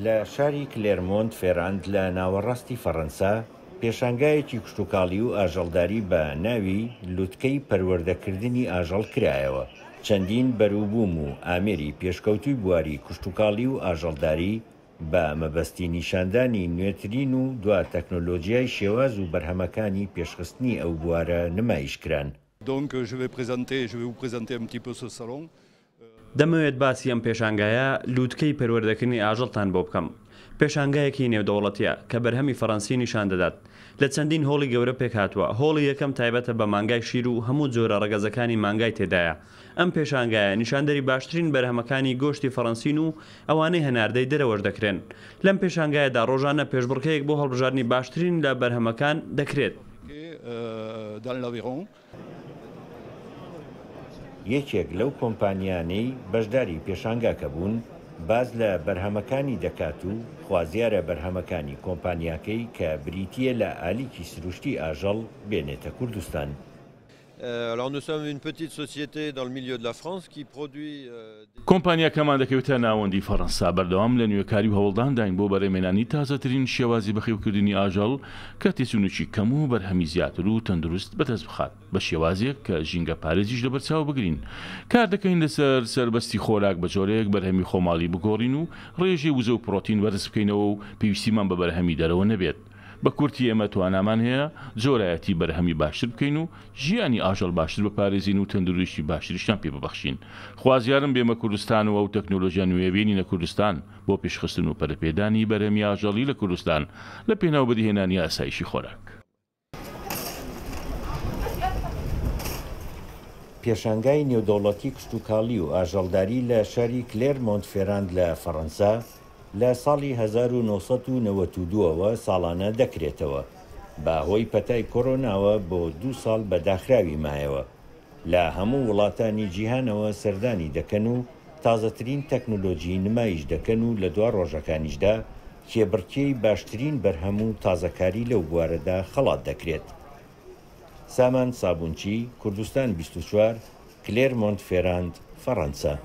لە شاری کلێرمۆنت فێراند لە ناوەڕاستی فەڕەنسا، پێشانگایەکی کشتوکاڵی و ئاژەڵداری بە ناوی لوتکەی پەروەردەکردنی ئاژەڵ کرایەوە. چەندین بەروبووم و ئامێری پێشکەوتووی بواری کشتوکاڵی و ئاژەڵداری بە مەبەستی نیشاندانی نوێترین و دوا تەکنۆلۆجیای شێواز و بەرهەمەکانی پێشخستنی ئەو بوارە نمایش کران. دەمەوێت باسی ئەم پێشانگایە، لووتکەی پەروەردەکردنی ئاژەڵتان بۆ بکەم. پێشانگایەکی نێودەوڵەتییە کە بەرهەمی فەڕەنسی نیشان دەدات. لە چەندین هۆڵی گەورە پێکهاتووە. هۆڵی یەکەم تایبەتە بە مانگای شیر و هەموو جۆرە ڕەگەزەکانی مانگای تێدایە. ئەم پێشانگایە نیشاندەری باشترین بەرهەمەکانی گۆشتی فەڕەنسین و ئەوانەی هەناردەی دەرەوەش دەکرێن. لەم پێشانگایەدا ڕۆژانە پێشبڕکێیەک بۆ هەڵبژاردنی باشترین لە بەرهەمەکان دەکرێت. یەکێک لەو کۆمپانیانەی بەشداری پێشانگاکە بوون، باس لە بەرهەمەکانی دەکات و خوازیارە بەرهەمەکانی کۆمپانیاکەی کە بریتییە لە ئالیکی سروشتی ئاژەڵ بێنێتە کوردستان. کۆمپانیاکەمان دەکەوێتە ناوەندی فەڕەنسا، بەردەوام لە نوێکاری و هەوڵدانداین بۆ بەرهەمهێنانی تازەترین شێوازی بەخێوکردنی ئاژەڵ کە تێچوونێکی کەم و بەرهەمی زیاتر و تەندروست بەدەست بخات بە شێوازێک کە ژینگە پارێزیش لەبەرچاو بگرین. کار دەکەین لەسەر سەربەستی خۆراک بە جۆرێک بەرهەمی خۆماڵی بگۆڕین و ڕێژەی وزە و پڕۆتین بەرز بکەینەوە و پێویستیمان بە بەرهەمی دەرەوە نەبێت. بە کورتی ئێمە توانامان هەیە جۆرایەتی بەرهەمی باشتر بکەین و ژیانی ئاژەڵ باشتر بپارێزین و تەندروستی باشتریشیان پێ ببەخشین. خوازیارم بێمە کوردستان و ئەو تەکنۆلۆژیا نوێیە بێنینە کوردستان بۆ پێشخستن و پەرەپێدانی بەرهەمی ئاژەڵی لە کوردستان لە پێناو بەدیهێنانی ئاسایشی خۆراک. پێشانگای نێودەوڵەتی کشتوکاڵی و ئاژەڵداری لە شاری کلێرمۆنت فێراند لە فەڕەنسا لە ساڵی 1992 ەوە ساڵانە دەکرێتەوە، بە هۆی پەتای کۆرۆناوە بۆ دوو ساڵ بە داخراوی مایەوە. لە هەموو وڵاتانی جیهانەوە سەردانی دەکەن و تازەترین تەکنۆلۆجی نمایش دەکەن و لە دوا ڕۆژەکانیشدا کێبڕکێی باشترین بەرهەم و تازەکاری لەو بوارەدا خەڵات دەکرێت. سامان سابونچی، کوردستان 24، کلێرمۆنت فێراند، فەڕەنسا.